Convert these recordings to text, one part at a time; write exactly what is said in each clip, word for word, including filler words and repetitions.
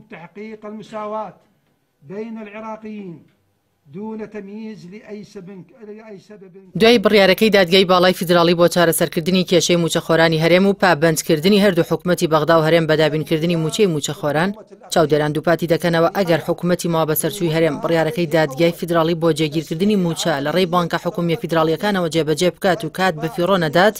تحقيق المساواة بين العراقيين دون تمييز لأي سبب لأي سبب. دوای بڕیارەکەی دادگای باڵای فیدراڵی بۆ چارەسەرکردنی کێشەی موچەخۆرانی هەرێم و پابەندکردنی هەردوو حکوومەتی بەغدا و هەرێم بە دابینکردنی موچەی موچەخۆران، چاودێران دووپاتی دەکەنەوە ئەگەر حکوومەتی ماوەبەسەرچووی هەرێم بڕیارەکەی دادگای فیدراڵی بۆ جێگیرکردنی موچە لە ڕێی بانکە حکومیە فیدراڵیەکانەوە جێبەجێ بکات و کات بەفیڕۆ نەدات،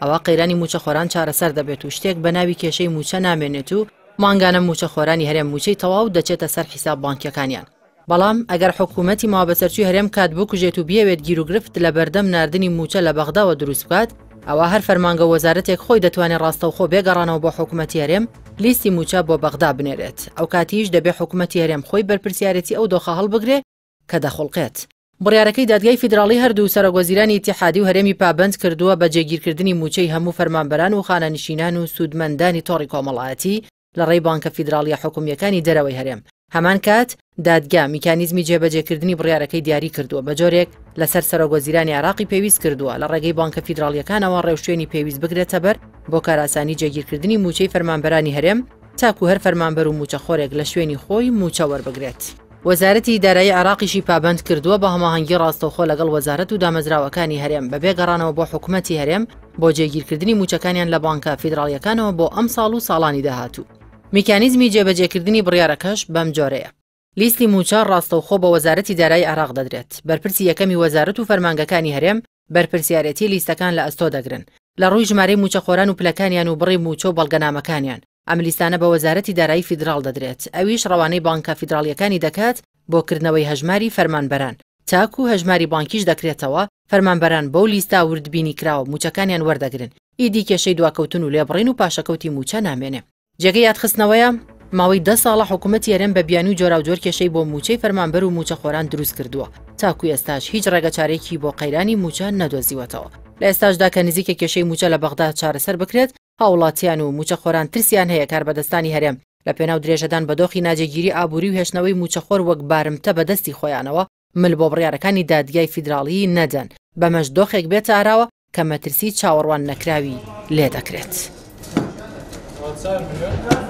ئەوە قەیرانی موچەخۆران چارەسەر دەبێت و شتێک بە ناوی کێشەی موچە نامێنێت و مانگانە موچەخۆرانی هەرێم موچەی تەواو دەچێتە سەر حیساب بانکیەکانیان. بەڵام ئەگەر حکوومەتی ماوەبەسەرچووی هەرێم کات بکوژێت و بیەوێت گیروگرفت لە بەردەم ناردنی موچە لە بەغداوە دروست بکات، ئەوە هەر فەرمانگە وەزارەتێک خۆی دەتوانێت ڕاستەوخۆ بێگەڕانەوە بۆ حکوومەتی هەرێم لیستی موچە بۆ بەغدا بنێرێت. ئەو کاتیش دەبێت حکوومەتی هەرێم خۆی بەرپرسیارێتی ئەو دۆخە هەڵبگرێ کە دەخوڵقێت. بڕیارەکەی دادگای فیدراڵی هەردوو سەرۆکوەزیرانی ئیتیحادی و هەرێمی پابەند کردووە بە جێگیرکردنی موچەی هەموو فەرمانبەران و خانەنشینان و سوودمەندانی تۆڕی کۆمەڵایەتی لە ڕێی بانکە فیدراڵیە حکومیەکانی دەرەوەی هەرێم. هەمان کات دادگا میکانیزمی جێبەجێکردنی بڕیارەکەی دیاری کردووە، بە جۆرێک لەسەر سەرۆکوەزیرانی عێراقی پێویست کردووە لە ڕێگەی بانکە فیدراڵیەکانەوە ڕێوشوێنی پێویست بگرێتە بەر بۆ کاراسانی جێگیرکردنی موچەی فەرمانبەرانی هەرێم تاکو هەر فەرمانبەر و موچەخۆرێک لە شوێنی خۆی موچە وەربگرێت. وەزارەتی دارایی عێراقیشی پابەند کردووە بە هەماهەنگی ڕاستەوخۆ لەگەڵ وەزارەت و دامەزراوەکانی هەرێم بەبێ گەڕانەوە بۆ حکوومەتی هەرێم بۆ جێگیرکردنی موچەکانیان لە بانکە فیدراڵیەکانەوە بۆ ئەمساڵ و ساڵانی داهاتوو. میکانیزمی جێبەجێکردنی بڕیارەکەش بەم جۆرەیە. لیستی موچە ڕاستەوخۆ بە وەزارەتی دارایی عێراق دەدرێت. بەرپرسی یەکەمی وەزارەت و فەرمانگەکانی هەرێم بەرپرسیارەتی لیستەکان لە ئەستۆ دەگرن لە ڕووی ژمارەی موچەخۆران و پلەکانیان و بڕی موچە و بەڵگەنامەکانیان. ئەم لیستانە بە وەزارەتی دارایی فیدراڵ دەدرێت، ئەویش ڕەوانەی بانکە فیدراڵیەکانی دەکات بۆ کردنەوەی هەژماری فەرمانبەران. تاکو هەژماری بانکیش دەکرێتەوە، فەرمانبەران بەو لیستا وردبینی کراوە موچەکانیان وەردەگرن. ئیدی کێشەی دواکەوتن و لێبڕین و پاشەکەوتی موچە نامێنێ. جێگەی یادخستنەوەیە ماوەی دە ساڵە حکوومەتی هەرێم بە بیانووی جۆراوجۆر کێشەی بۆ موچەی فەرمانبەر و موچەخۆران دروست کردووە، تاکو ئێستاش هیچ ڕێگەچارێکی بۆ قەیرانی موچە نەدۆزیوەتەوە. لە ئێستاشدا کە نزیکە کێشەی موچە لە بەغدا چارەسەر بکرێت، هاوڵاتیان و موچەخۆران ترسیان هەیە کاربەدەستانی هەرێم لە پێناو درێژەدان بە دۆخی ناجێگیری ئابووری و هێشتنەوەی موچەخۆر وەک بارمتە بەدەستی خۆیانەوە مل بۆ بڕیارەکانی دادگای فیدراڵی نەدەن، بەمەش دۆخێک بێتە ئاراوە کە مەترسی چاوەڕوان نەکراوی لێ دەکرێت. چوار ملیۆن.